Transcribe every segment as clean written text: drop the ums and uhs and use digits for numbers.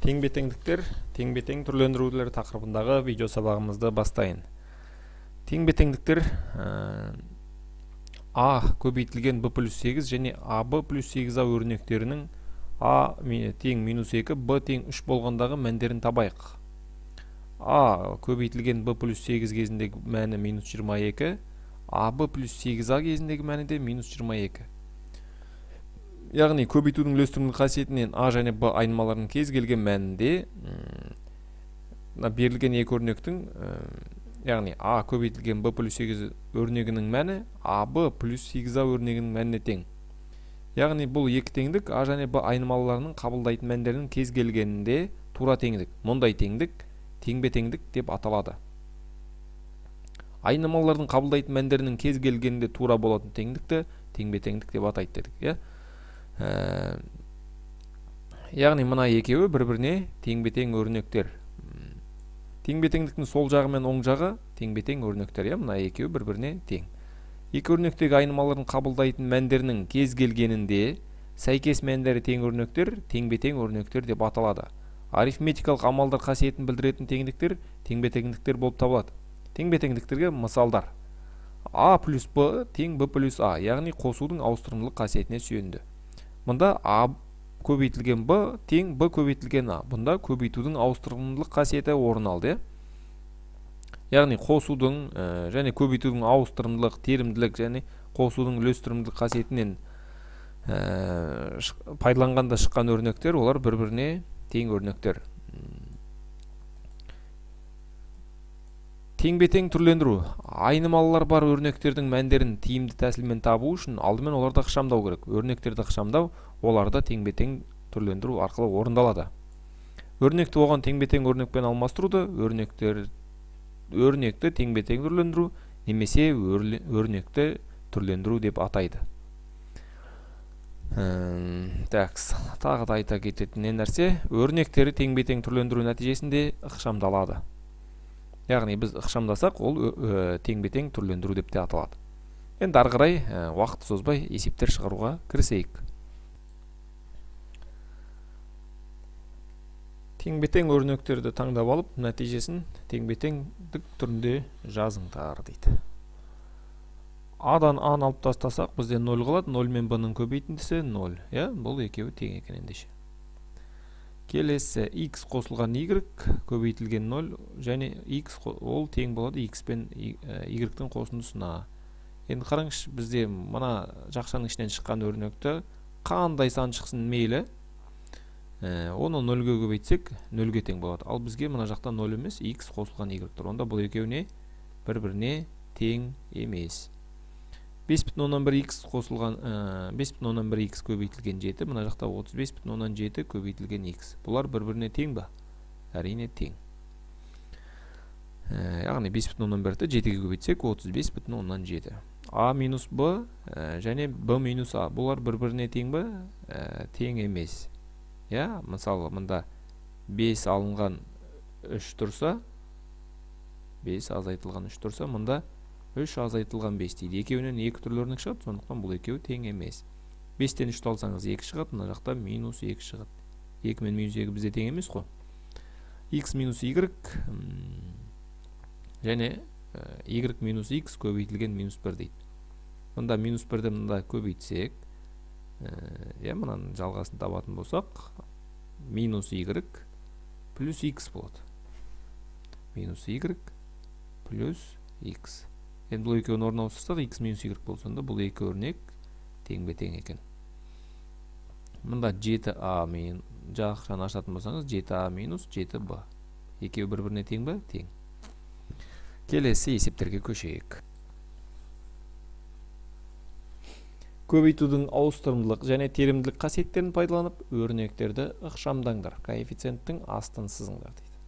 Тең-бетеңдіктер, тең-бетең түрлендірулер тақырыбындағы видео сабағымызды бастайын. Тең-бетеңдіктер А көбейтілген b плюс 8 және AB плюс 8a өрнектерінің A тең минус 2, B тең 3 болғандағы мәндерін табайық. A көбейтілген b плюс 8 кезіндегі мәні минус 22, AB плюс 8a кезіндегі мәні де минус 22. Яғни көбейтудің үлестірімдік қасиетінен A және B айнымаларының кез келген мәнінде берілген екі өрнектің яғни A көбейтілген B плюс 8 өрнегінің мәні AB плюс 8A өрнегінің мәніне тең. Яғни бұл екі теңдік A және B айнымаларының қабылдайтын мәндерінің кез келгенінде тура теңдік. Мұндай теңдік тең-бетеңдік деп аталады. Айнымалардың қабылдайтын мәндерінің кез келгенінде тура болатын теңдікті тең-бетеңдік деп атайды дедік. Яғни мына екеуі бір-біріне тең-бетең өрнектер. Тең-бетеңдіктің сол жағы мен оң жағы тең-бетең өрнектер. Мына екеуі бір-біріне тең. Екі өрнектегі айнымалардың қабылдайтын мәндерінің кез келгенінде сәйкес мәндері тең өрнектер тең-бетең өрнектер деп аталады. Арифметикалық амалдар қасиетін білдіретін теңдіктер тең-бетеңдіктер болып табылады. Тең-бетеңдіктерге мысалдар: A плюс B тең B плюс A, яғни қосудың ауыстырымдылық қасиетіне сүйенді. Мұнда A көбейтілген B тең B көбейтілген A. Бұнда көбейтудің ауыстырымдылық қасиеті орын алды. Яғни қосудың және көбейтудің ауыстырымдылық, терімділік және қосудың үлестірімділік қасиетінен пайдаланғанда шыққан өрнектер, олар бір-біріне тең өрнектер. Тең-бетең түрлендіру. Айнымалылар бар өрнектердің мәндерін тиімді тәсілмен табу үшін алдымен оларды ықшамдау керек. Өрнектерді ықшамдау оларды тең-бетең түрлендіру арқылы орындалады. Өрнекті оған тең-бетең өрнекпен алмастыруды өрнекті тең-бетең түрлендіру немесе өрнекті түрлендіру деп атайды. Тағы да айта кететін нәрсе, өрнектері тең-бетең түрлендіру нәтижесінде ықшамдалады. Яғни біз ықшамдасақ, ол тең-бетең түрлендіру деп те аталады. Енді ары қарай уақыт созбай есептер шығаруға кірісейік. Тең-бетең өрнектерді таңдап алып, нәтижесін тең-бетеңдік түрінде жазыңдар дейді. A-дан A-ны алып тастасақ, бізде 0 қалады. 0 мен B-ның көбейтіндісі 0. Бұл екеуі тең екен ендеше. Келесі x қосылған y көбейтілген 0 және x ол тең болады x пен y-тің қосындысына. Енді қараңызшы, бізде мына жақшаның ішінен шыққан өрнекті қандай сан шықсын мейлі, оны 0-ге көбейтсек 0-ге тең болады. Ал бізге мына жақта 0 емес, x қосылған y тұр. Онда бұл екеуіне бір-біріне тең емес. 5,1x қосылған 5,1x көбейтілген 7, мына жақта 35,7 көбейтілген x. Бұлар бір-біріне тең ба? Әрине тең. Яғни 5,1-ті 7-ге көбейтсек 35,7. A минус B және B минус A. Бұлар бір-біріне тең ба? Тең емес. Мысалы, мұнда 5 алынған 3 тұрса, 5 азайтылған 3 тұрса, мұнда 3 азайтылған 5 дейді. Екеуінен 2 түрлі өрнек шығады, сондықтан бұл екеуі тең емес. 5-тен 3 алсаңыз 2 шығады, мына жақта минус 2 шығады. 2 мен минус 2 бізде тең емес қой. X минус y және y минус x көбейтілген минус 1 дейді. Мұнда минус 1-ді мұнда көбейтсек, мұнан жалғасын табатын болсақ, минус y плюс x болады. Минус y плюс x. Енді бұл екеуін орнына ауыстырсақ, x минус y болса, бұл екі өрнек тең-бетең екен. Мұнда 7a мен жақшаны ашатын болсаңыз, 7a минус 7b. Екеуі бір-біріне тең ба? Тең. Келесі есептерге көшейік. Көбейтудің ауыстырымдылық және терімділік қасиеттерін пайдаланып, өрнектерді ықшамдаңдар. Коэффициенттің астын сызыңдар дейді.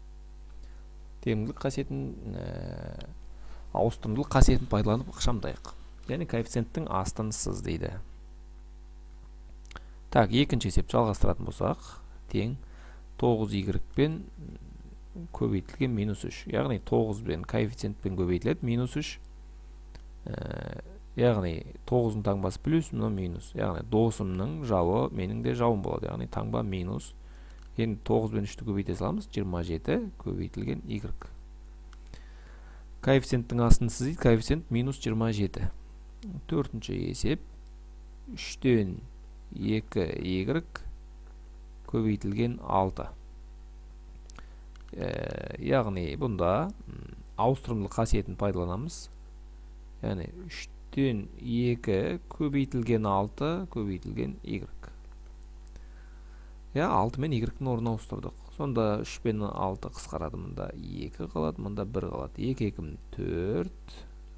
Терімділік қасиетін ауыстырымдылық қасиетін пайдаланып ықшамдайық. Яғни коэффициенттің астын сыз дейді. Екінші есеп жалғастыратын болсақ, тең 9y пен көбейтілген минус 3. Яғни 9 пен коэффициентпен көбейтіледі минус 3. Яғни 9-ның таңбасы плюс, мұны минус. Яғни досымның жауы менің де жауым болады. Яғни таңба минус Енді 9 бен 3-ті көбейте саламыз. 27 көбейтілген y. Коэффициенттің астын сыздейді. Коэффициент минус 27. Төртінші есеп 3-тен 2y көбейтілген 6. Яғни бұнда ауыстырымдылық қасиетін пайдаланамыз. Яғни 3-тен 2 көбейтілген 6 көбейтілген y. 6 мен y-дің орнына ауыстырдық. Сонда 3 пен 6 қысқарады. Мұнда 2 қалады, мұнда 1 қалады. 2 2 4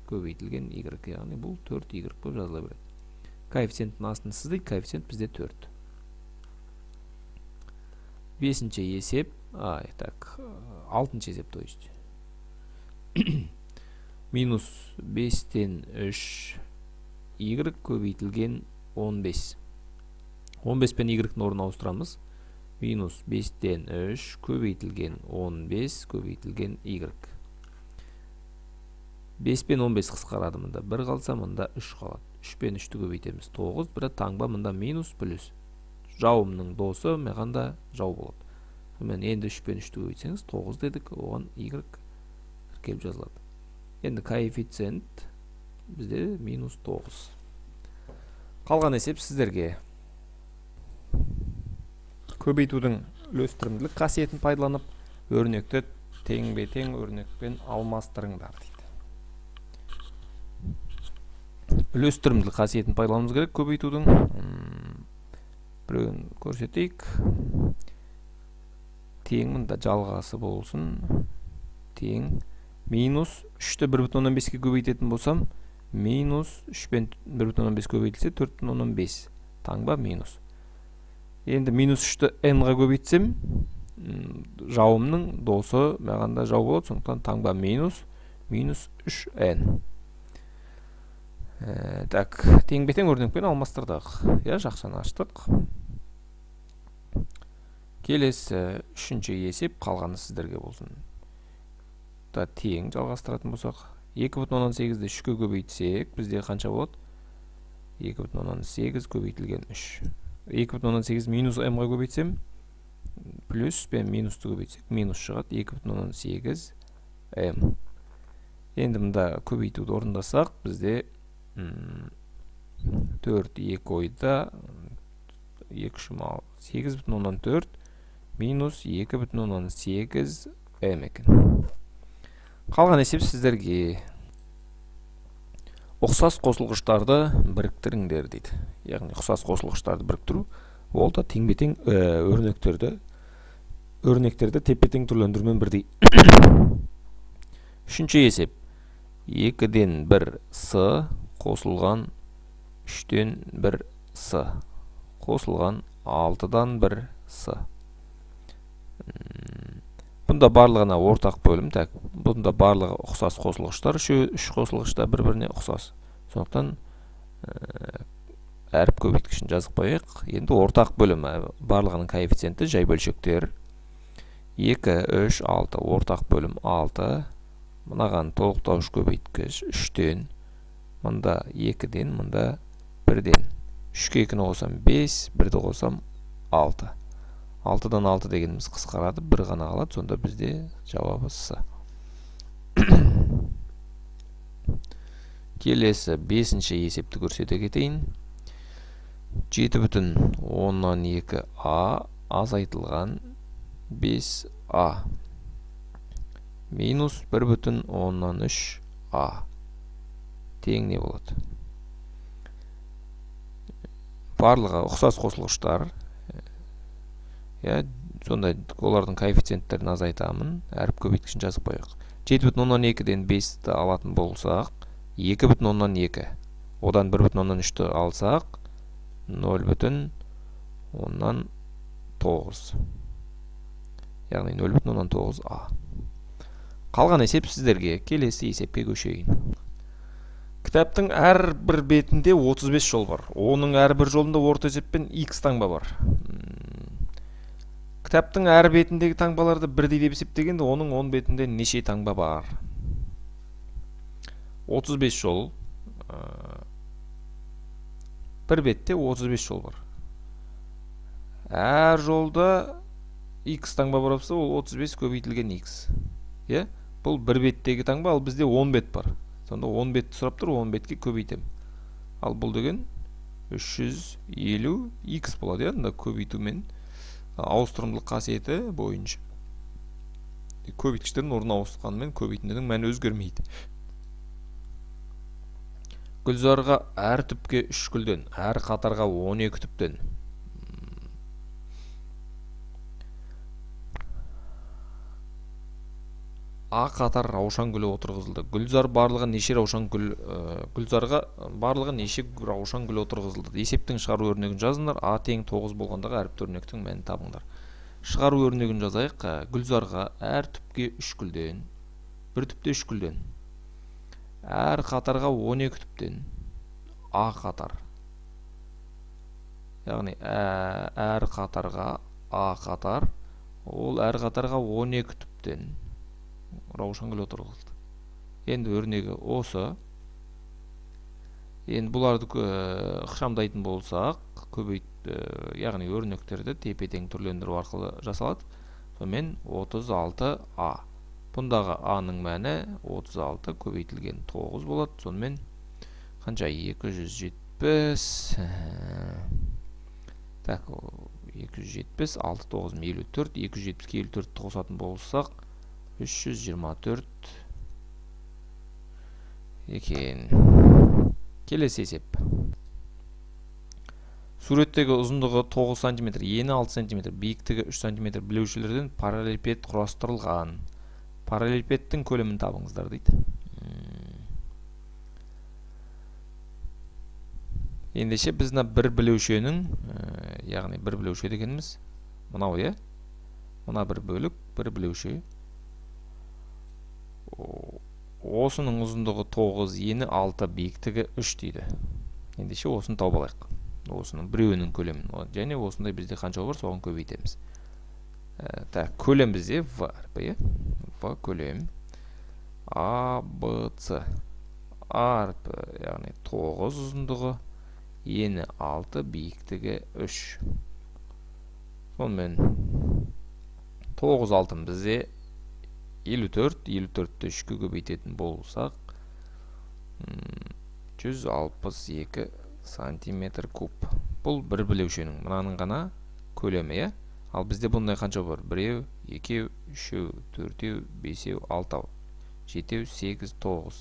көбейтілген y. Яғни бұл 4y болып жазыла береді. Коэффициенттің астын сыздайды. Коэффициент бізде 4. Бесінші есеп, алтыншы есеп, то есть. Минус 5-тен 3 y көбейтілген 15. 15 пен y-дің орнына ауыстырамыз. Минус 5-тен 3 көбейтілген 15 көбейтілген y. 5 пен 15 қысқарады. Мұнда 1 қалса, мұнда 3 қалады. 3 пен 3-ті көбейтеміз. 9, бірі таңба, мұнда минус плюс. Жауымның досы меғанда жау болады. Енді 3 пен 3-ті көбейтсеңіз 9 дедік, оған y келіп жазылады. Енді коэффициент бізде минус 9. Қалған есеп сіздерге. Көбейтудің үлестірімділік қасиетін пайдаланып, өрнекті тең-бе-тең өрнекпен алмастырыңдар дейді. Үлестірімділік қасиетін пайдаланымыз керек көбейтудің. Біреуін көрсетейік. Тең, мұнда жалғасы болсын. Тең. Минус 3-ті 1,15-ке көбейтетін болсам, минус 3 пен 1,15 көбейтілсе 4,15. Таңба минус. Енді минус 3-ті n-ға көбейтсем, жауымның досы мағанда жау болады, сондықтан таңба минус 3n. Так, тең-бе-тең өрнекпен алмастырдық. Жақшаны аштық. Келесі үшінші есеп, қалғаны сіздерге болсын. Тең жалғастыратын болсақ, 2,18-ді 3-ке көбейтсек, бізде қанша болады? 2,18 көбейтілген 3. 2,18 минус m-ға көбейтсем, плюс пен минусты көбейтсек, минус шығады 2,18 m. Енді мұнда көбейтуді орындасақ, бізде 4 2 ойда 8,4 минус 2,18 m екен. Қалған есеп сіздерге. Ұқсас қосылғыштарды біріктіріңдер дейді. Яғни ұқсас қосылғыштарды біріктіру, ол да тең-бе-тең өрнектерді тепе-тең түрлендірумен бірдей. Үшінші есеп. 2-ден 1 с қосылған 3-тен 1 с қосылған 6-дан 1 с. Бұнда барлығына ортақ бөлім. Бұнда барлығы ұқсас қосылғыштар. Үш қосылғышта бір-біріне ұқсас. Сондықтан әріп көбейткішін жазып қояйық. Енді ортақ бөлім барлығының коэффициенті жай бөлшектер. 2, 3, 6. Ортақ бөлім 6. Мынаған толықтауыш көбейткіш 3-тен. Мұнда 2-ден, мұнда 1-ден. 3-ке 2-ні қосам 5, 1-ді қосам 6. 6-дан 6 дегеніміз қысқарады, 1 ғана қалады, сонда бізде жауабы С. Келесі 5-ші есепті көрсете кетейін. 7,2a азайтылған 5a минус 1,3a тең не болады? Барлығы ұқсас қосылғыштар. Сонда олардың коэффициенттерін азайтамын. Әріп көбейткішін жазып қояйық. 7,2-ден 5-ті алатын болсақ, 2,2. Одан 1,3-ті алсақ, 0,9. Яғни 0,9a. Қалған есеп сіздерге. Келесі есепке көшейін. Кітаптың әрбір бетінде 35 жол бар. Оның әрбір жолында орта есеппен x таңба бар. Кітаптың әр бетіндегі таңбаларды бірдей деп есептегенде, оның 10 бетінде неше таңба бар? 35 жол. Бір бетте 35 жол бар. Әр жолда x таңба бар болса, ол 35 көбейтілген x. Е? Бұл бір беттегі таңба, ал бізде 10 бет бар. Сонда 10 бетті сұрап тұр, 10 бетке көбейтем. Ал бұл деген 350 x болады, янда көбейтумен ауыстырымдылық қасиеті бойынша. Көбейткіштердің орнын ауыстырғанымен көбейтіндінің мәні өзгермейді. Гүлзарға әр түпке 3 гүлден, әр қатарға 12 түптен. А қатар раушан гүлі отырғызылды. Гүлзарға барлығы неше раушан гүл отырғызылды. Есептің шығару өрнегін жазыңдар. А тең 9 болғандағы әріпті өрнектің мәнін табыңдар. Шығару өрнегін жазайық. Гүлзарға әр түпке 3 гүлден, бір түпте 3 гүлден, әр қатарға 12 түптен. А қатар. Яғни әр қатарға А қатар, ол әр қатарға 12 түптен раушан гүл отырғызылды. Енді өрнегі осы. Енді бұларды ықшамдайтын болсақ, яғни өрнектерді тепе-тең түрлендіру арқылы жасалады. Сонымен 36А. Бұндағы А-ның мәні 36 көбейтілген 9 болады. Сонымен қанша? 270. Так, 270, 6, 9, 54, 270-ке 54 қосатын болсақ, 324 екен. Келесі есеп. Суреттегі ұзындығы 9 см, ені 6 см, биіктігі 3 см білеушілерден параллелепипед құрастырылған. Параллелепипедтің көлемін табыңыздар дейді. Ендеше біздің бір білеушенің, яғни бір білеуше дегеніміз мынау, е? Мына бір бөлік, бір білеуше. Осының ұзындығы 9, ені 6, биіктігі 3 дейді. Ендеше осыны тауып алайық. Осының біреуінің көлемін. Және осындай бізде қанша бар, соған көбейтеміз. Көлем бізде В, В көлем. А, Б, С. А әрпі, яғни 9 ұзындығы, ені 6, биіктігі 3. Сонымен 9 алтын бізде 54, 54-ті 3-ке көбейтетін болсақ 162 сантиметр куб. Бұл бір білеушенің, мұнаның ғана көлемі. Ал бізде бұндай қанша бар? 1, 2, 3, 4, 5, 6, 7, 8, 9.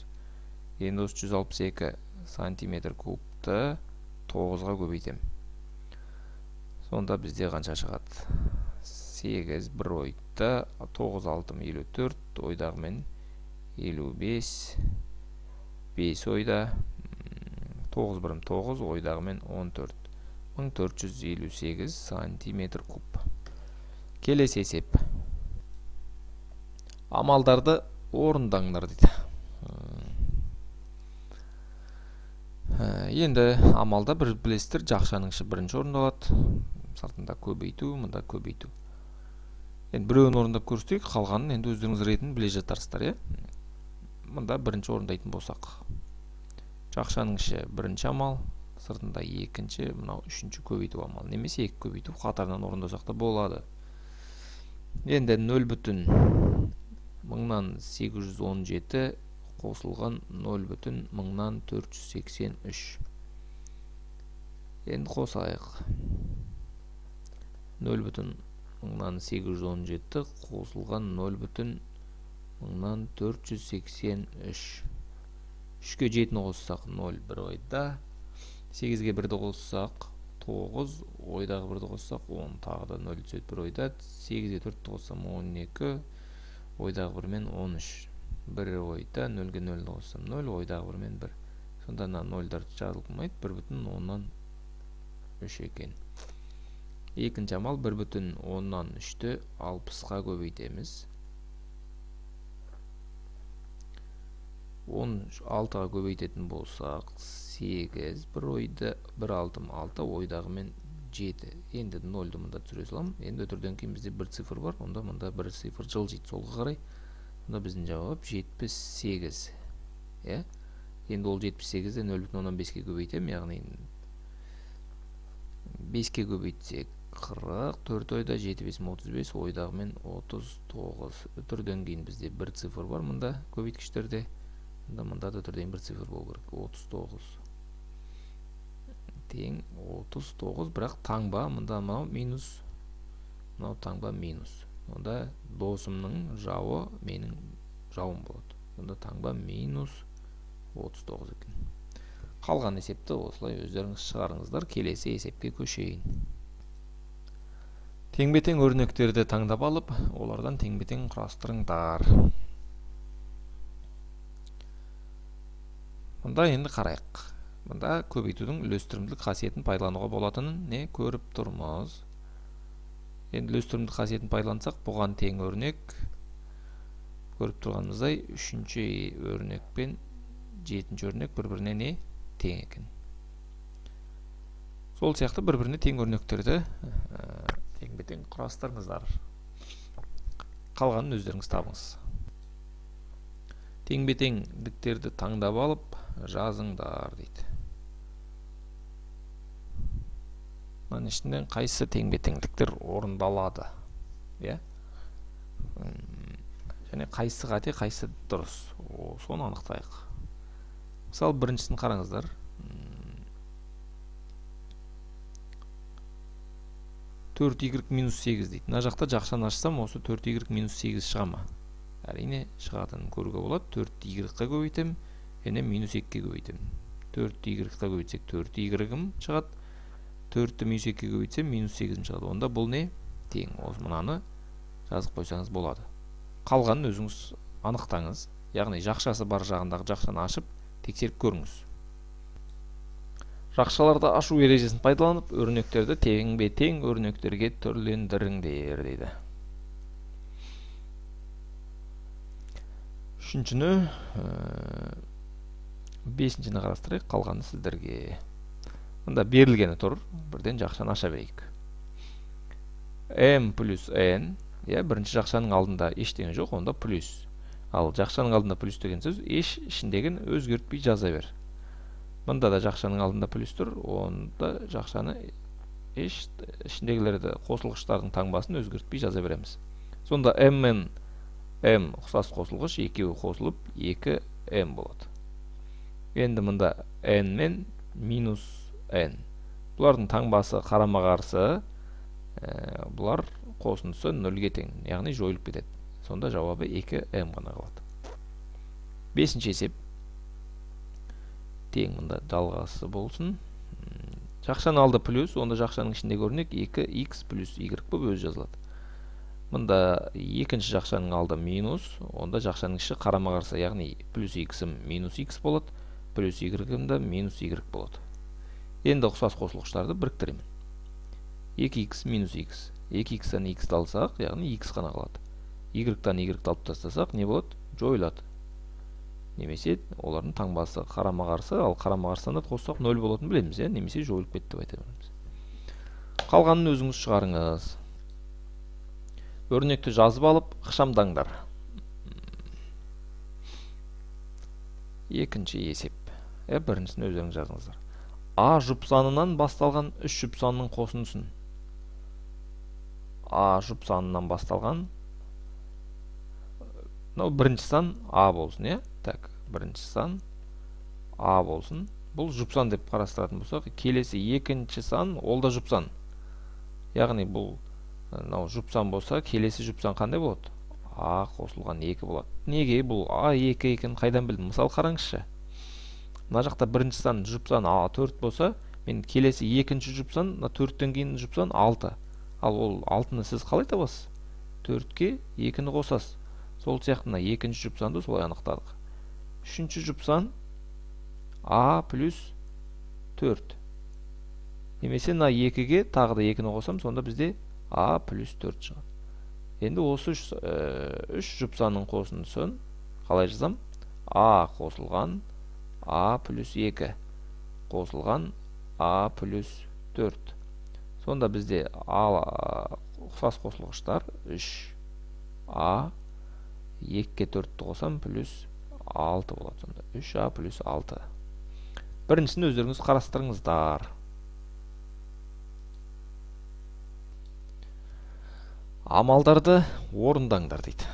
Енді осы 162 сантиметр кубты 9-ға көбейтем. Сонда бізде қанша шығады? 8 бір ойда, 9 алтым 54, ойдағымен 55, 5 ойда, 9 бірім 9, ойдағымен 14. 1458 сантиметр куб. Келесі есеп. Амалдарды орындаңдар дейді. Енді амалда бір білесіздер, жақшаның іші бірінші орындалады. Сартында көбейту, мұнда көбейту. Енді біреуін орындап көрсетейік, қалғанын енді өздеріңіз ретін біле жатарсыздар, Мұнда бірінші орындайтын болсақ. Жақшаның іші бірінші амал, сыртында екінші, мынау үшінші көбейту амал. Немесе екі көбейту қатарынан орындасақ та болады. Енді 0,817 қосылған 0,483. Енді қосайық. 0,817 қосылған 0,483. 3-ке 7-ні қоссақ 0 бір ойда. 8-ге 1-ді қоссақ 9, ойдағы 1-ді қоссақ 10, тағы да 0 түсет бір ойда. 8-ге 4-ді қоссам 12, ойдағы 1-мен 13. 1 ойда, 0-ге 0-ді қоссам 0, ойдағы 1-мен 1. Сонда 0-дар жазылмайды, 1,10 екен. Екінші амал 1,10-3-ті 60-ға көбейтеміз. 16-ға көбейтетін болсақ 8, бір ойда 1 алтым 6, ойдағымен 7. Енді 0-ді мұнда түсіре салам. Енді өтірден кейін бізде бір цифр бар, онда мұнда бір цифр жылжиды солға қарай. Онда біздің жауап 78. Енді ол 78-ді 0,15-ге көбейтем, яғни 5-ке көбейтсек 40, 4 ойда 7 5 35, ойдағы мен 39. Үтірден кейін бізде бір цифр бар мұнда көбейткіштерде. Мұнда да үтірден бір цифр болу керек. 39 тең 39, бірақ таңба мұнда мынау минус, мынау таңба минус. Онда досымның жауы менің жауым болады. Онда таңба минус 39 екен. Қалған есепті осылай өздеріңіз шығарыңыздар. Келесі есепке көшейін. Теңбе-тең өрнектерді таңдап алып, олардан теңбе-тең құрастырыңдар. Мұнда енді қарайық. Мұнда көбейтудің үлестірімдік қасиетін пайдалануға болатынын не көріп тұрмыз. Енді үлестірімдік қасиетін пайдалансақ, бұған тең өрнек көріп тұрғанымыздай 3-ші өрнек пен 7-ші өрнек бір-біріне не тең екен. Сол сияқты бір-біріне тең өрнектерді теңбе-тең құрастырыңыздар. Қалғанын өздеріңіз табыңыз. Теңбе-теңдіктерді таңдап алып жазыңдар дейді. Мұның ішінен қайсы теңбе-теңдіктер орындалады? Және қайсы қате, қайсы дұрыс? Соны анықтайық. Мысалы, біріншісін қараңыздар. 4y минус 8 дейді. Мына жақта жақшаны ашсам, осы 4y минус 8 шыға ма? Әрине шығатынын көруге болады. 4y-ға көбейтем, және минус 2-ге көбейтем. 4y-ға көбейтсек 4y-ім шығады. 4-ті минус 2-ге көбейтсем минус 8 шығады. Онда бұл не? Тең. Осы мұнаны жазып қойсаңыз болады. Қалғанын өзіңіз анықтаңыз. Яғни жақшасы бар жағындағы жақшаны ашып тексеріп көріңіз. Жақшаларды ашу ережесін пайдаланып, өрнектерді теңбе-тең өрнектерге түрлендіріңдер дейді. Үшіншіні, бесіншіні қарастырайық, қалғаны сіздерге. Мұнда берілгені тұр, бірден жақшаны аша берейік. M плюс N, бірінші жақшаның алдында ештеңе жоқ, онда плюс. Ал жақшаның алдында плюс деген сөз, еш ішіндегін өзгертпей жаза бер. Мұнда да жақшаның алдында плюс тұр, онда жақшаны ішіндегілерді қосылғыштардың таңбасын өзгертпей жаза береміз. Сонда M мен M ұқсас қосылғыш, екеуі қосылып 2M болады. Енді мұнда N мен минус N. Бұлардың таңбасы қарама-қарсы, бұлар қосындысы 0-ге тең, яғни жойылып кетеді. Сонда жауабы 2M ғана қалады. Бесінші есеп. Тең мұнда жалғасы болсын. Жақшаның алды плюс, онда жақшаның ішіндегі өрнек 2x плюс y болып өзі жазылады. Мұнда екінші жақшаның алды минус, онда жақшаның іші қарама-қарсы, яғни плюс x-ім минус x болады, плюс y-ім да минус y болады. Енді ұқсас қосылғыштарды біріктіремін. 2x минус x. 2x-тан x-ті алсақ, яғни x қана қалады. Y-тан y-ті алып тастасақ, не болады? Жойылады. Немесе олардың таңбасы қарама-қарсы, ал қарама-қарсыны қоссақ 0 болатын білеміз, немесе жойылып кетті деп айта береміз. Қалғанын өзіңіз шығарыңыз. Өрнекті жазып алып, ықшамдаңдар. Екінші есеп. Біріншісін өздеріңіз жазыңыздар. А жұп санынан басталған 3 жұп санының қосындысын. А жұп санынан басталған, бірінші сан А болсын, Так, бірінші сан А болсын. Бұл жұпсан деп қарастыратын болсақ, келесі екінші сан, ол да жұпсан. Яғни бұл жұпсан болса, келесі жұпсан қандай болады? А қосылған 2 болады. Неге бұл А2 екен қайдан білдім? Мысалы қараңызшы. Мына жақта бірінші сан жұпсан А4 болса, мен келесі екінші жұпсан, 4-тен кейін жұпсан 6. Ал ол 6-ны сіз қалай табасыз? 4-ке 2-ні қосасыз. Сол сияқтына екінші жұпсанды солай анықтадық. Үшінші жұпсан А плюс 4. Немесе мына 2-ге тағы да 2-ні қосам, сонда бізде А плюс 4 шығады. Енді осы 3 жұпсанның қосындысын қалай жазам? А қосылған А плюс 2 қосылған А плюс 4. Сонда бізде ұқсас қосылғыштар 3А 2-ке 4-ті қосам плюс 6 болады. Сонда 3А плюс 6. Біріншісін өздеріңіз қарастырыңыздар. Амалдарды орындаңдар дейді.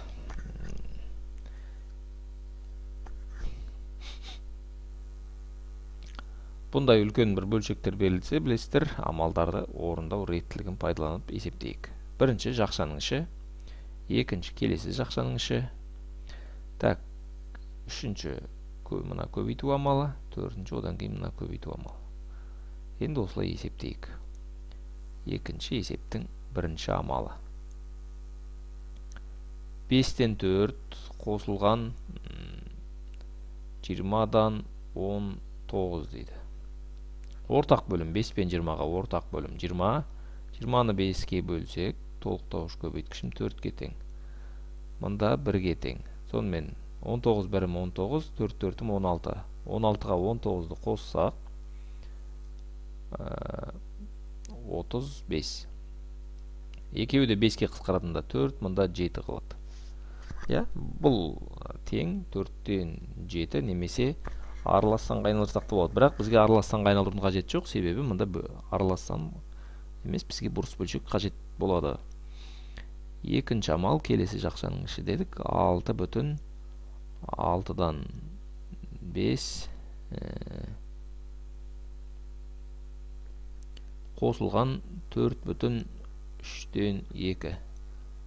Бұндай үлкен бір бөлшектер берілсе, білесіздер, амалдарды орындау реттілігін пайдаланып есептейік. Бірінші жақшаның іші, екінші келесі жақшаның іші. Так, үшінші мына көбейту амалы, төртінші одан кейін мына көбейту амалы. Енді осылай есептейік. Екінші есептің бірінші амалы. 5-тен 4 қосылған 20-дан 19 дейді. Ортақ бөлім 5 пен 20-ға ортақ бөлім 20. 20-ны 5-ке бөлсек, толықтауыш көбейткішім 4-ке тең. Мұнда 1-ге тең. Сонымен 19 бірім 19, 4 4-ім 16. 16-ға 19-ды қоссақ 35. Екеуі де 5-ке қысқаратында 4, мұнда 7 қалады. Бұл тең 4-тен 7 немесе аралассан айналдырсақ та болады. Бірақ бізге аралассан айналдырудың қажеті жоқ, себебі мұнда аралассан емес, бізге бұрыс бөлшек қажет болады. Екінші амал келесі жақшаның іші дедік. 6,6-дан 5 қосылған 4,3-тен 2.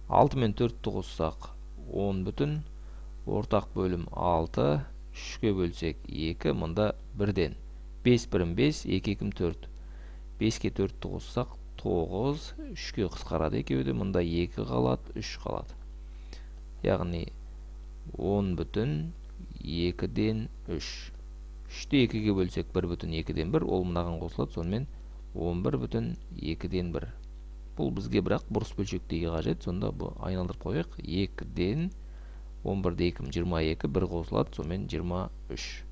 6 мен 4-ті қоссақ 10 бүтін, ортақ бөлім 6, 3-ке бөлсек 2, мұнда 1-ден. 5 бірім 5, 2 2-ім 4. 5-ке 4-ті қоссақ 9, 3-ке қысқарады екеуі де, мұнда 2 қалады, 3 қалады. Яғни 10 бүтін, 2-ден 3. 3-ті 2-ге бөлсек 1 бүтін 2-ден 1, ол мұнаған қосылады, сонымен 11 бүтін 2-ден 1. Бұл бізге бірақ бұрыс бөлшектегі қажет, сонда бұл айналдырып қойық. 2-ден 11-де 2, 22, 1 қосылады, сонымен 23.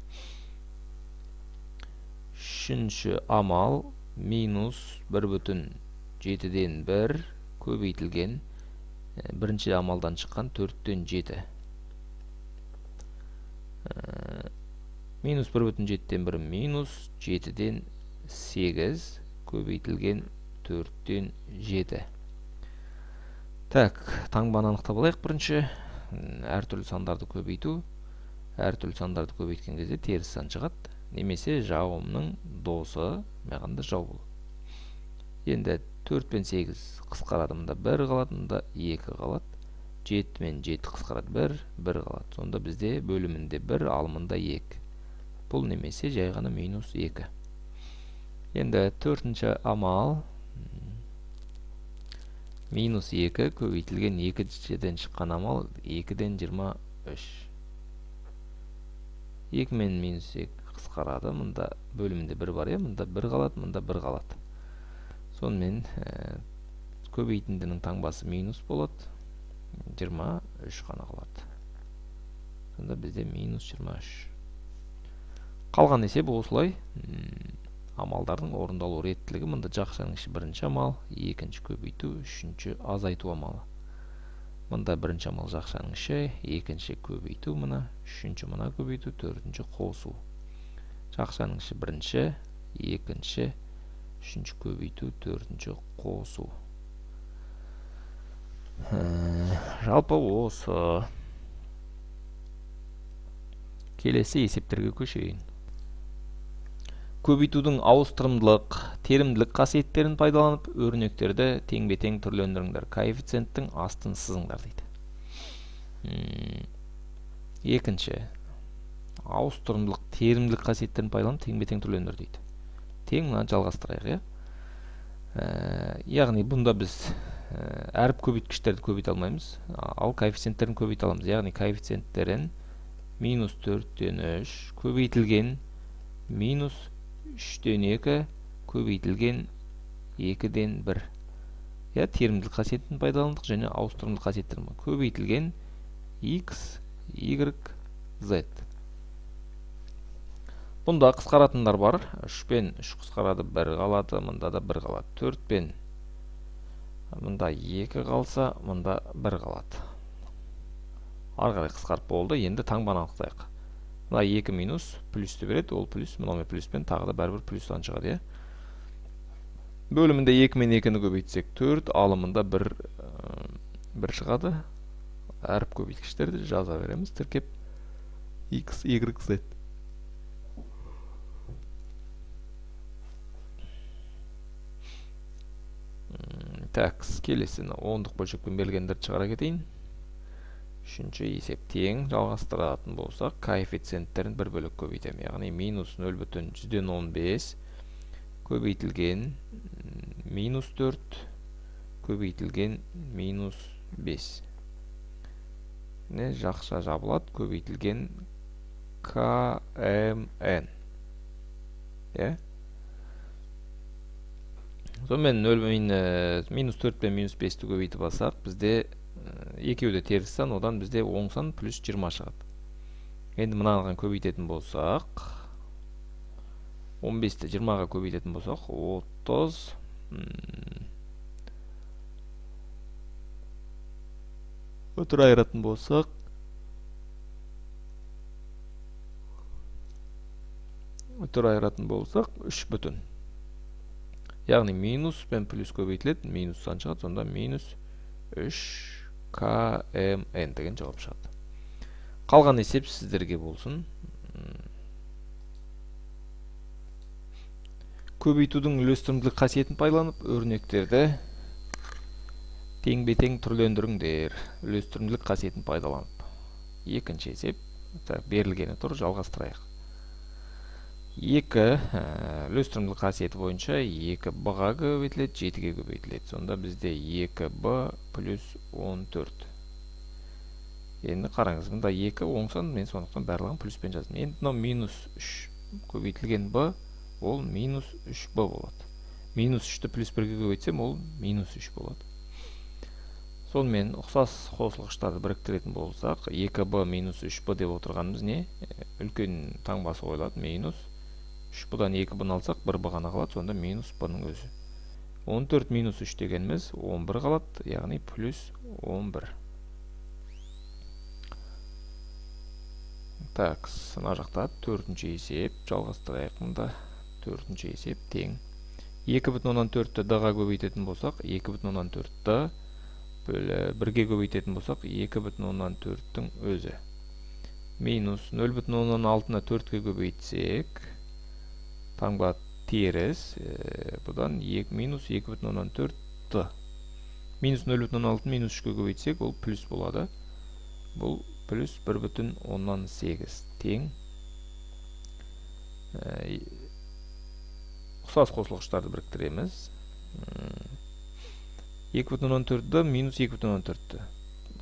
Үшінші амал минус 1,7-ден 1 көбейтілген бірінші амалдан шыққан 4-тен 7. Минус 1,7-ден 1 минус 7-ден 8 көбейтілген 4-тен 7. Так, таңбаны анықтап алайық. Бірінші әртүрлі сандарды көбейту. Әртүрлі сандарды көбейткен кезде теріс сан шығады. Немесе жауымның досы, мағанда жау бұл. Енді 4 пен 8 қысқарады, мұнда 1 қалады, мұнда 2 қалады. 7 мен 7 қысқарады, 1 қалады. Сонда бізде бөлімінде 1, алымында 2. Бұл немесе жай ғана минус 2. Енді төртінші амал минус 2 көбейтілген 2-ден шыққан амал 2-ден 23. 2 мен минус 2 қысқарады, мұнда бөлімінде 1 бар, мұнда 1 қалады, мұнда 1 қалады. Сонымен көбейтіндінің таңбасы минус болады, 23 қана қалады. Сонда бізде минус 23. Қалған есеп осылай. Амалдардың орындалу реттілігі мұнда жақшаның іші бірінші амал, екінші көбейту, үшінші азайту амалы. Мұнда бірінші амал жақшаның іші, екінші көбейту мұна, үшінші мұна көбейту, төртінші қосу. Жақшаның іші бірінші, екінші, үшінші көбейту, төртінші қосу. Жалпы осы. Келесі есептерге көшейін. Көбейтудің ауыстырымдылық, терімділік қасиеттерін пайдаланып, өрнектерді тең-бе-тең түрлендіріңдер. Коэффициенттің астын сызыңдар дейді. Екінші, ауыстырымдылық, терімділік қасиеттерін пайдаланып, тең-бе-тең түрлендір дейді. Тең мұны жалғастырайық, яғни бұнда біз әріп көбейткіштерді көбейте алмаймыз, ал коэффициенттерін көбейте аламыз. Яғни коэффициенттерін минус 4-тен 3 көбейтілген минус 3-тен 2 көбейтілген 2-ден 1. Терімділік қасиетін пайдаландық және ауыстырымдылық қасиеттерін көбейтілген x, y, z. Бұнда қысқаратындар бар. 3 пен 3 қысқарады, 1 қалады, мұнда да 1 қалады. 4 пен мұнда 2 қалса, мұнда 1 қалады. Арғарай қысқарып болды. Енді таңбаны анықтайық. Мына 2 минус плюсті береді, ол плюс, мұнымен плюспен тағы да бәрібір плюстан шығады. Бөлімінде 2 мен 2-ні көбейтсек 4, алымында 1 1 шығады. Әріп көбейткіштерді жаза береміз. Тіркеп x, y, z. Так, келесіні ондық бөлшекпен берілгендерді шығара кетейін. Үшінші есеп тең жалғастыратын болсақ, коэффициенттерін бір бөлік көбейтем. Яғни минус 0,115 көбейтілген минус 4 көбейтілген минус 5. Жақша жабылады, көбейтілген КМН. Сонымен минус 4 пен минус 5-ті көбейтіп алсақ, бізде екеуі де теріс сан, одан бізде оң сан плюс 20 шығады. Енді мынаған көбейтетін болсақ, 15-ті 20-ға көбейтетін болсақ, 30 өтір айыратын болсақ, өтір айыратын болсақ 3 бүтін. Яғни минус пен плюс көбейтіледі, минус сан шығады, сонда минус 3 КМН деген жауап шығады. Қалған есеп сіздерге болсын. Көбейтудің үлестірімділік қасиетін пайдаланып, өрнектерді тең-бетең түрлендіріңдер. Үлестірімділік қасиетін пайдаланып. Екінші есеп, берілгені тұр, жалғастырайық. 2 үлестірімділік қасиеті бойынша 2b-ға көбейтіледі, 7-ге көбейтіледі. Сонда бізде 2b плюс 14. Енді қараңыз, мұнда 2 оң сан, мен сондықтан барлығын плюспен жаздым. Енді мынау минус 3 көбейтілген b, ол минус 3b болады. Минус 3-ті плюс 1-ге көбейтсем, ол минус 3 болады. Сонымен ұқсас қосылғыштарды біріктіретін болсақ, 2b минус 3b деп отырғанымыз не? Үлкен таңбасы қойылады, минус 3b-дан 2b-ны алсақ, 1b ғана қалады, сонда минус b-ның өзі. 14 минус 3 дегеніміз 11 қалады, яғни плюс 11. Так, сына жақта 4-ші есеп, жалғастырайық мұнда. 4-ші есеп тең. 2,4-ті d-ға көбейтетін болсақ, 2,4-ті 1-ге көбейтетін болсақ, 2,4-тің өзі. Минус 0,6-ны 4-ге көбейтсек, таңба теріс, бұдан минус 2,4-ті. Минус 0,6 минус 3-ге көбейтсек, ол плюс болады. Бұл плюс 1,8 тең. Ұқсас қосылғыштарды біріктіреміз. 2,4-ді минус 2,4-ті.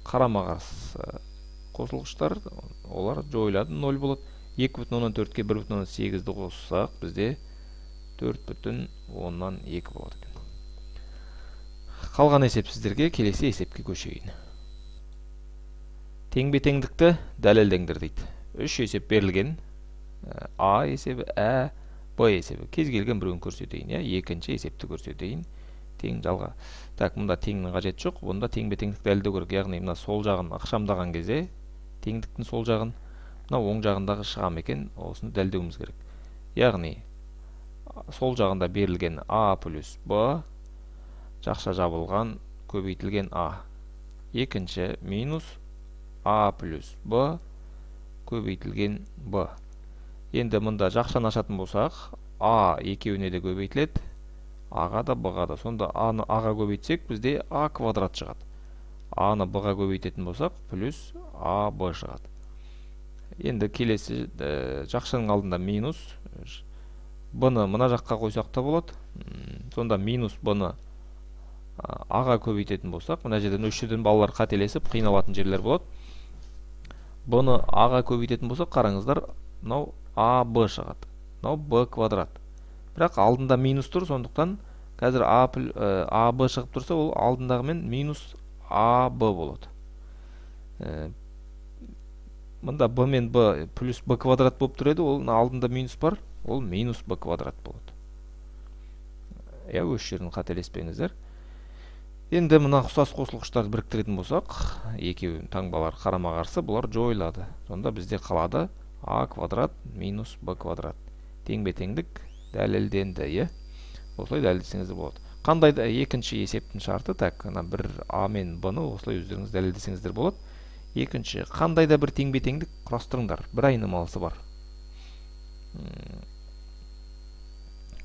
Қарама-қарсы қосылғыштар, олар жойылады, 0 болады. 2,4-ке 1,8-ді қоссақ, бізде 4,2 болады. Қалған есеп сіздерге, келесі есепке көшейін. Тең-бетеңдікті дәлелдеңдер дейді. 3 есеп берілген. А есебі, Ә, Б есебі. Кез келген біреуін көрсетейін. Екінші есепті көрсетейін. Тең жалға. Так, мұнда теңнің қажет жоқ. Бұнда тең-бетеңдік дәлелдеу керек. Яғни мына сол жағын ақшамдаған кезде, теңдіктің сол жағын, мына оң жағындағы шығам екен, осыны дәлелдеуіміз керек. Яғни, сол жағында берілген А плюс Б, жақша жабылған көбейтілген А. Екінші минус А плюс Б көбейтілген Б. Енді мұнда жақшаны ашатын болсақ, А екеуіне де көбейтіледі, А-ға да, Б-ға да. Сонда А-ны А-ға көбейтсек, бізде А квадрат шығады. А-ны Б-ға көбейтетін болсақ, плюс А-Б шығады. Енді келесі жақшаның алдында минус. Б-ны мына жаққа қойсақ та болады. Сонда минус Б-ны А-ға көбейтетін болсақ, мына жерден үш жерден балалар қателесіп, қиналатын жерлер болады. Б-ны А-ға көбейтетін болсақ, қараңыздар, мынау А-Б шығады. Мынау Б квадрат. Бірақ алдында минус тұр, сондықтан қазір А-Б шығып тұрса, ол алдындағымен минус А-Б болады. Мұнда Б мен Б плюс Б квадрат болып тұреді, ол алдында минус бар, ол минус Б квадрат болады. Өз жерін қателеспеңіздер. Енді мұна ұқсас қосылғыштарды біріктіретін болсақ, екеуін таңбалар қарама-қарсы, бұлар жойылады. Сонда бізде қалады А квадрат минус Б квадрат. Тең-бетеңдік дәлелденді, осылай дәлелдесеңіз болады. Қандай да екінші есептің шарты, так, бір А мен Б-ны осылай өздеріңіз дәлелдесеңіздер болады. Екінші, қандай да бір теңбе-теңдік құрастырыңдар. Бір айнымалысы бар.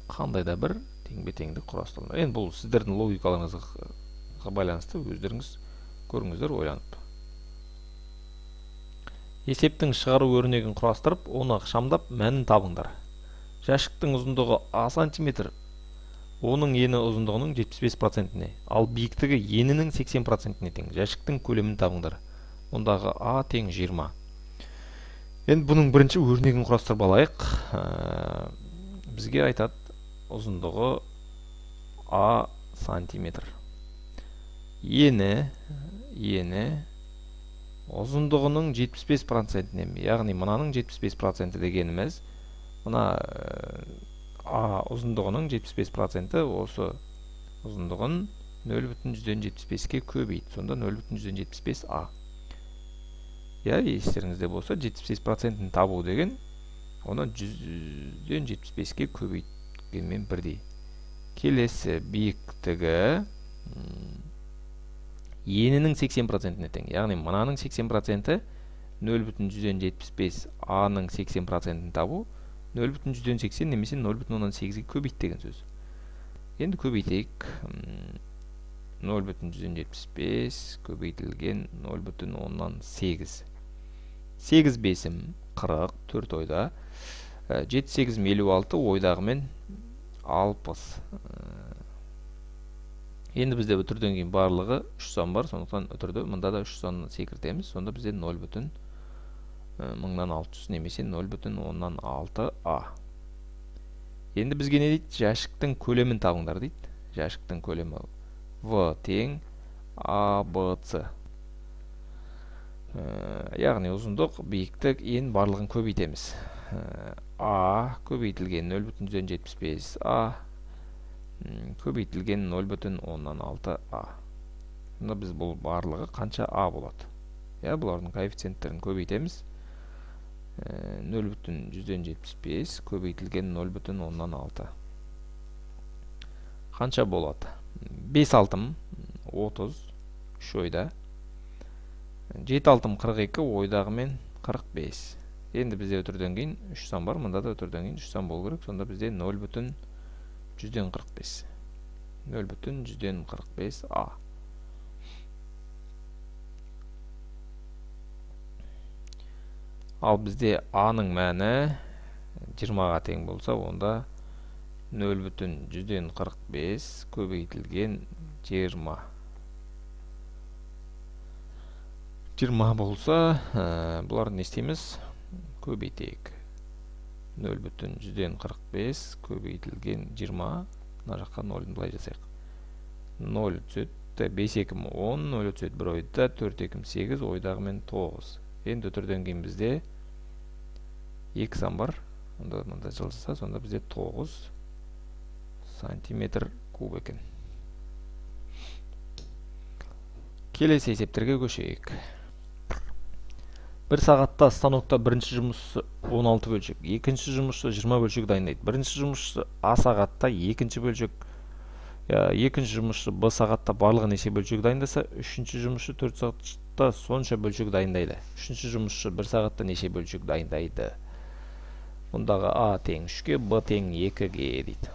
Қандай да бір теңбе-теңдік құрастырыңдар. Енді бұл сіздердің логикаларыңызға байланысты, өздеріңіз көріңіздер ойланып. Есептің шығару өрнегін құрастырып, оны ықшамдап, мәнін табыңдар. Жәшіктің ұзындығы А сантиметр, оның ені ұзындығының 75%-не, ал биіктігі енінің 80%-не тең. Жәшіктің көлемін табыңдар. Ондағы А тең 20. Енді бұның бірінші өрнегін құрастырып алайық. Бізге айтады, ұзындығы А сантиметр. Ені ұзындығының 75%-не, яғни мынаның 75% дегеніміз, мына А ұзындығының 75% осы ұзындығын 0,175-ке көбейді. Сонда 0,175 А. Естеріңізде болса, 75%-ін табу деген, оны 100-75-ке көбейткенмен бірдей. Келесі биіктігі енінің 80%-не тең. Яғни мынаның 80%-і 0,175 А-ның 80%-ін табу 0,180 немесе 0,8-ге көбейт деген сөз. Енді көбейтейік. 0,175 көбейтілген 0,8. 8 бесім 40, 4 ойда. 7-8 56 ойдағымен 60. Енді бізде үтірден кейін барлығы 3 сан бар, сондықтан үтірді мұнда да 3 санны секіртеміз. Сонда бізде 0,600 немесе 0,6 А. Енді бізге не дейді? Жәшіктің көлемін табыңдар дейді. Жәшіктің көлемі В тең АБЦ. Яғни ұзындық, биіктік, ен барлығын көбейтеміз. А көбейтілген 0,175 А көбейтілген 0,6 А. Мұнда біз бұл барлығы қанша А болады? Бұлардың коэффициенттерін көбейтеміз. 0,175 көбейтілген 0,6. Қанша болады? 5 алтым 30, 3 ойда. 7 алтым 42, ойдағымен 45. Енді бізде өтірден кейін 3 сан бар, мұнда да өтірден кейін 3 сан болу керек. Сонда бізде 0,145. 0,145 А. Ал бізде А-ның мәні 20-ға тең болса, онда 0,145 көбейтілген 20. 20 болса, бұлар не істейміз? Көбейтейік. 0,145 көбейтілген 20. Мына жаққа 0-ын былай жасайық. 0 түседі, 5 екім 10, 0 түседі 1 ойда, 4 екім 8, ойдағымен 9. Енді өтірден кейін бізде 2 сан бар. Мұнда жылжыса, сонда бізде 9 сантиметр куб екен. Келесі есептерге көшейік. Бір сағатта станокта бірінші жұмысшы 16 бөлшек, екінші жұмысшы 20 бөлшек дайындайды. Бірінші жұмысшы А сағатта екінші жұмысшы Б сағатта барлығы неше бөлшек дайындаса, үшінші жұмысшы 4 сағатта сонша бөлшек дайындайды. Үшінші жұмысшы 1 сағатта неше бөлшек дайындайды? Мұндағы А тең 3-ге, Б тең 2-ге дейді.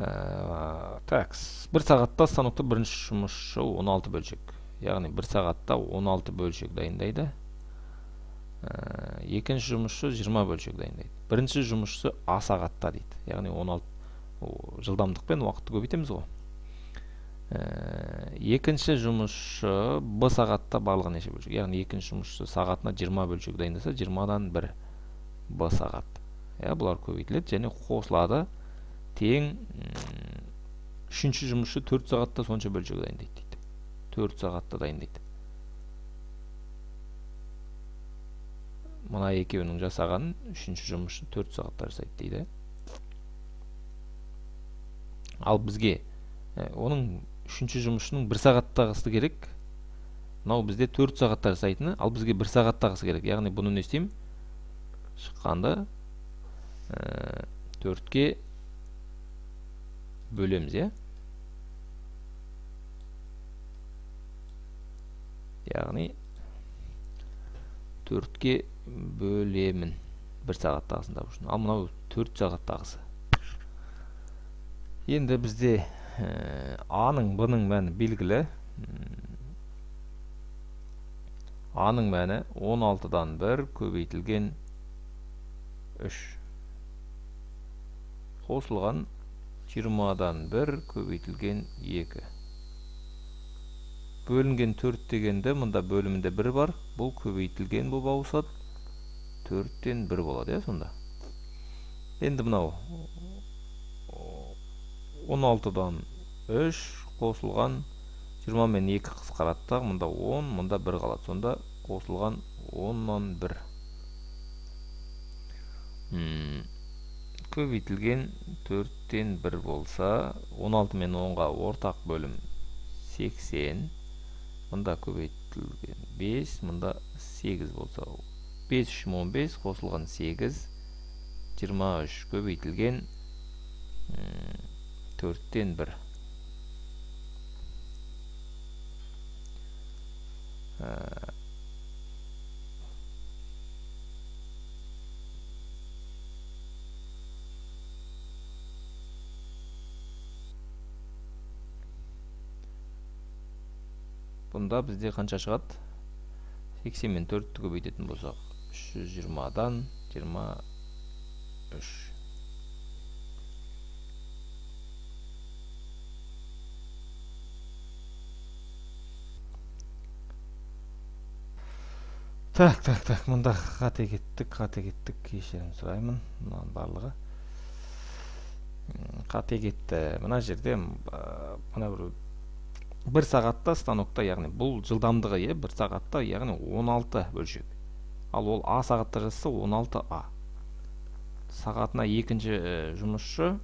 Бір сағатта станокта бірінші жұмысшы 16 бөлшек. Яғни бір сағатта 16 бөлшек дайындайды. Екінші жұмысшы 20 бөлшек дайындайды. Бірінші жұмысшы А сағатта дейді. Яғни 16 жылдамдықпен уақытты көбейтеміз ғой. Екінші жұмысшы Б сағатта барлығы неше бөлшек? Яғни екінші жұмысшы сағатына 20 бөлшек дайындаса, 20-дан 1 Б сағат. Бұлар көбейтіледі және қосылады. Тең үшінші жұмысшы 4 сағатта сонша бөлшек дайындайды дейді. 4 сағатта дайындайды. Мұна екеуінің жасағанын үшінші жұмысшы 4 сағатта жасайды дейді. Ал бізге оның үшінші жұмысшының 1 сағаттағысы керек. Мынау бізде 4 сағатта жасайтыны, ал бізге 1 сағаттағысы керек. Яғни бұны не істеймін? шыққанды 4-ке бөлеміз, е? Яғни 4-ке бөлемін 1 сағаттағысын табу үшін. Ал мынау 4 сағаттағысы. Енді бізде А-ның, Б-ның мәні белгілі. А-ның мәні 16-дан 1 көбейтілген 3. Қосылған 20-дан 1 көбейтілген 2. Бөлінген 4 дегенде, мұнда бөлімінде 1 бар. Бұл көбейтілген болып ауысады. 4-тен 1 болады, сонда. Енді мынау 16-дан 3 қосылған 20 мен 2 қысқараттақ, мұнда 10, мұнда 1 қалады. Сонда қосылған 10-нан 1. Көбейтілген 4-тен 1 болса, 16 мен 10-ға ортақ бөлім 80. Мұнда көбейтілген 5, мұнда 8 болса, 5 үшін 15 қосылған 8, 23 көбейтілген 4-тен 1. Бұнда бізде қанша шығады? 80 мен 4-ті көбейтетін болсақ, 320-дан 23. Так, мұнда қате кеттік, кешірім сұраймын. Мұнан барлығы қате кетті. Мұна жерде мұна бір сағатта станокта, яғни бұл жылдамдығы, 1 сағатта, яғни 16 бөлшек. Ал ол А сағатта жазса 16 А. Сағатына екінші жұмысшы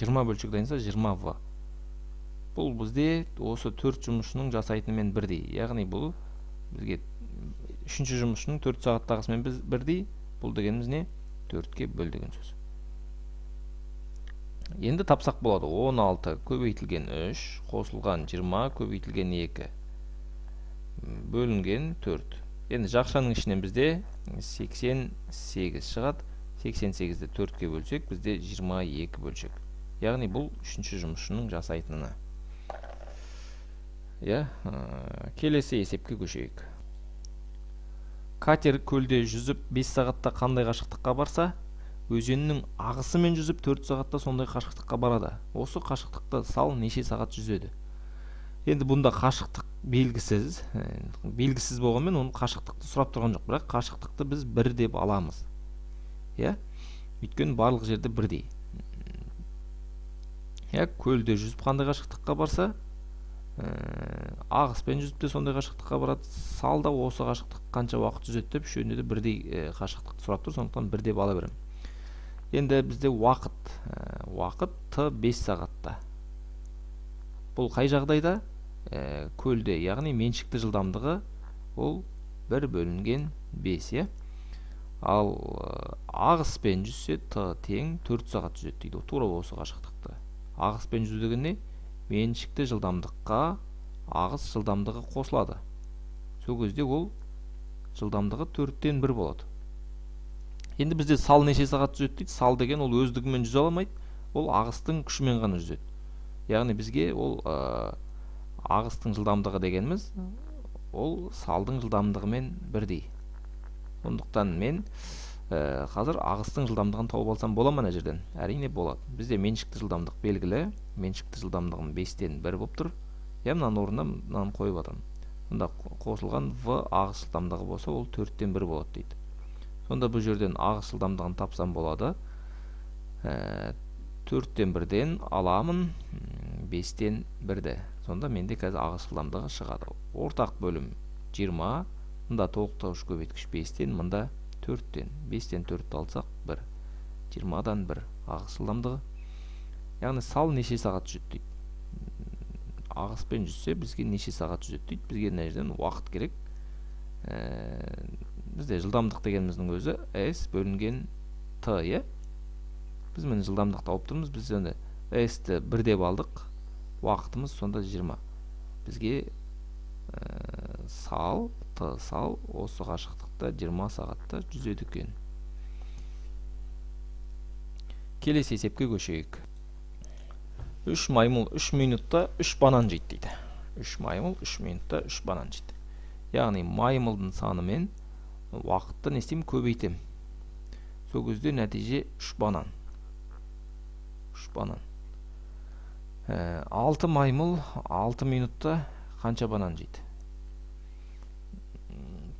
20 бөлшек дайынса 20 В. Бұл бізде осы 4 жұмысшының жасайтынымен бірдей. Яғни бұл бізге үшінші жұмысшының 4 сағаттағысымен бірдей. Бұл дегеніміз не? 4-ке бөл деген сөз. Енді тапсақ болады. 16 көбейтілген 3 қосылған 20 көбейтілген 2 бөлінген 4. Енді жақшаның ішінен бізде 88 шығады. 88-ді 4-ке бөлсек, бізде 22 бөлшек. Яғни бұл үшінші жұмысшының жасайтыны. Келесі есепке көшейік. Катер көлде жүзіп 5 сағатта қандай қашықтыққа барса, өзеннің ағысымен жүзіп 4 сағатта сондай қашықтыққа барады. Осы қашықтықты сал неше сағат жүзеді? Енді бұнда қашықтық белгісіз болғанмен, оның қашықтықты сұрап тұрған жоқ, бірақ қашықтықты біз 1 деп аламыз. Өйткені барлық жерде бірдей. Көлде жүзіп қандай қашықтыққа барса, ағыспен жүзіп те сондай қашықтыққа барады. Салда осы қашықтық қанша уақыт жүзеді деп, үшеуінде де бірдей қашықтықты сұрап тұр, сондықтан 1 деп ала беремін. Енді бізде уақыт Т 5 сағатта. Бұл қай жағдайда? Көлде, яғни меншікті жылдамдығы ол 1 бөлінген 5. Ал ағыспен жүзсе Т тең 4 сағат жүзеді дейді. Тура осы қашықтықты. Ағыспен жүзу деген не? Меншікті жылдамдыққа ағыс жылдамдығы қосылады. Сол кезде ол жылдамдығы 4-тен 1 болады. Енді бізде сал неше сағат жүзеді дейді. Сал деген ол өздігімен жүзе аламайды. Ол ағыстың күшімен ғана жүзеді. Яғни бізге ол ағыстың жылдамдығы дегеніміз, ол салдың жылдамдығымен бірдей. Сондықтан мен қазір ағыстың жылдамдығын тауып алсам бола ма мына жерден? Әрине болады. Бізде меншікті жылдамдық белгілі. Меншікті жылдамдығым 5-тен 1 болып тұр. Мынаның орнына мынаны қойып жатырмын. Сонда қосылған В ағыс жылдамдығы болса, ол 4-тен 1 болады дейді. Сонда бұл жерден ағыс жылдамдығын тапсам болады. 4-тен 1-ден аламын 5-тен 1-ді. Сонда менде қазір ағыс жылдамдығы шығады. Ортақ бөлім 20. Мұнда толықтауыш көбейткіш 5-тен, мұнда 4-тен. 5-тен 4-ті алсақ 1. 20-дан 1 ағыс жылдамдығы. Яғни сал неше сағат жүзеді дейді. Ағыспен жүзсе бізге неше сағат жүзеді дейді. Бізге мына жерден уақыт керек. бізде жылдамдық дегеніміздің өзі S бөлінген T, е? Біз мені жылдамдық тауып тұрмыз, біз енді S-ті 1 деп алдық, уақытымыз сонда 20. Бізге сал, T сал, осы қашықтықта 20 сағатта жүзеді екен. Келесі есепке көшейік. 3 маймыл 3 минутта 3 банан жейді дейді. 3 маймыл 3 минутта 3 банан жейді. Яғни маймылдың саны мен уақытты не істеймін, көбейтем. Сол кезде нәтиже 3 банан. 3 банан. 6 маймыл 6 минутта қанша банан жейді?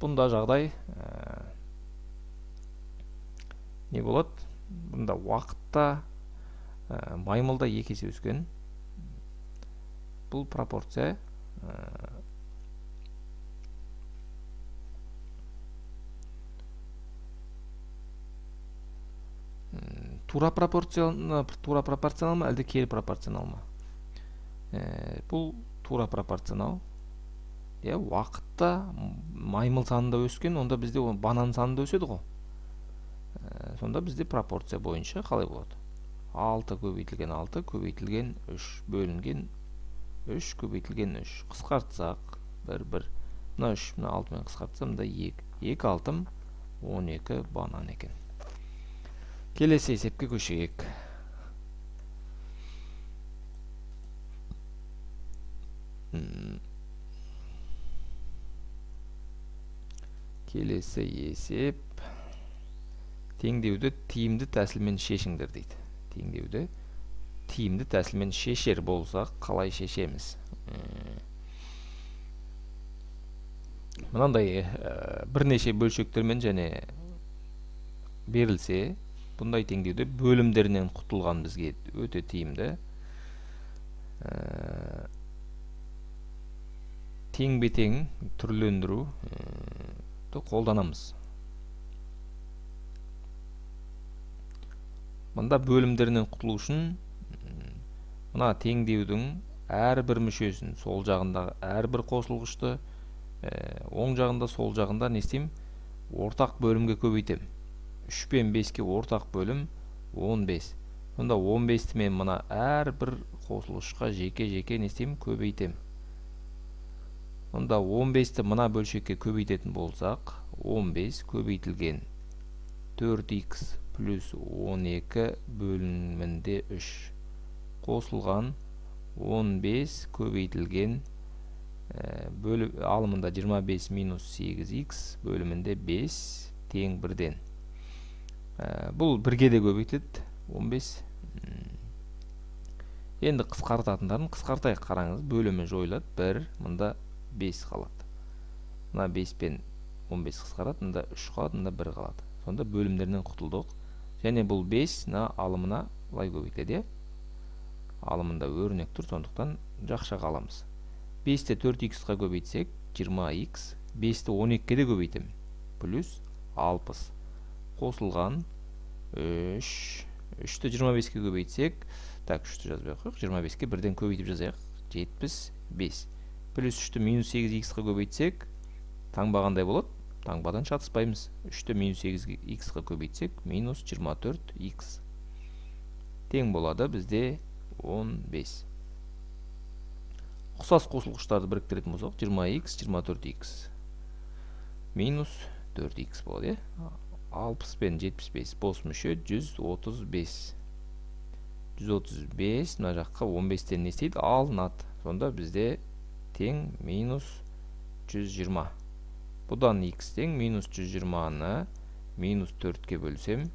Бұнда жағдай не болады? Бұнда уақытта маймылда 2 есе өскен. Бұл пропорция тура пропорционал ма, әлде кері пропорционал ма? Бұл тура пропорционал. Уақытта маймыл санында өскен, онда бізде банан санында өседі ғой. Сонда бізде пропорция бойынша қалай болады? 6 көбейтілген 6 көбейтілген 3 бөлінген 3 көбейтілген 3. Қысқартсақ 1. Мына 3, мына 6 мен қысқартсам да 2. 2 6 12 банан екен. Келесі есепке көшейік. Келесі есеп теңдеуді тиімді тәсілмен шешіңдер дейді. Теңдеуді тиімді тәсілмен шешер болсақ, қалай шешеміз? Мынандай бірнеше бөлшектермен және берілсе, бұндай теңдеуді бөлімдерінен құтылған бізге өте тиімді. Тең-бетең түрлендіру қолданамыз. Мұнда бөлімдерінен құтылу үшін мына теңдеудің әрбір мүшесін, сол жағындағы әрбір қосылғышты, оң жағында, сол жағында не істеймін? Ортақ бөлімге көбейтем. 3 пен 5-ке ортақ бөлім 15. Мұнда 15-ті мен мына әрбір қосылғышқа жеке-жеке не істеймін? Көбейтем. Мұнда 15-ті мына бөлшекке көбейтетін болсақ, 15 көбейтілген 4x плюс 12 бөлімінде 3 қосылған 15 көбейтілген алымында 25 минус 8x бөлімінде 5 тең 1-ден. Бұл 1-ге де көбейтілді 15. Енді қысқартатындарын қысқартайық, қараңыз, бөлімі жойылады 1, мұнда 5 қалады. Мына 5 пен 15 қысқарады, мұнда 3 қалады, мұнда 1 қалады. Сонда бөлімдерінен құтылдық. Және бұл 5 алымына лай көбейтеді. Алымында өрнек тұр, сондықтан жақшаға аламыз. 5-ті 4x-қа көбейтсек 20x, 5-ті 12-ке де көбейтем. Плюс 60. Қосылған 3-ті 25-ке көбейтсек, так, 3-ті жазбай қойық, 25-ке бірден көбейтіп жазайық, 75. Плюс 3-ті минус 8x-қа көбейтсек, таңбағандай болады. Таңбадан шатыспаймыз. 3-ті минус 8x-қа көбейтсек, минус 24x. Тең болады бізде 15. Ұқсас қосылғыштарды біріктіретін болсақ, 20x, 24x. Минус 4x болады. 60 пен 75 бос мүше 135. 135, мына жаққа 15-тен не істейді? Алынады. Сонда бізде тең минус 120. Бұдан x тең минус 120-ны минус 4-ке бөлсем,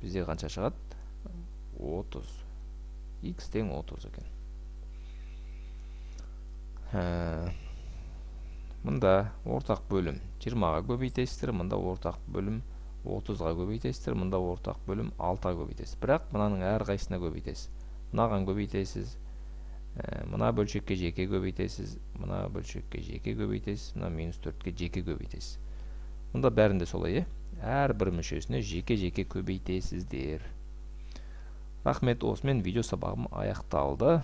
бізде қанша шығады? 30. X тең 30 екен. Мұнда ортақ бөлім 20-ға көбейтесіздер, мұнда ортақ бөлім 30-ға көбейтесіздер, мұнда ортақ бөлім 6-ға көбейтесіз. Бірақ мұнаның әр қайсына көбейтесіз. Мынаған көбейтесіз, мына бөлшекке жеке көбейтесіз, мына бөлшекке жеке көбейтесіз, мына минус 4-ке жеке көбейтесіз. Мұнда бәрінде солай, әр бір мүшесіне жеке-жеке көбейтесіздер. Рахмет, осымен видео сабағым аяқталды.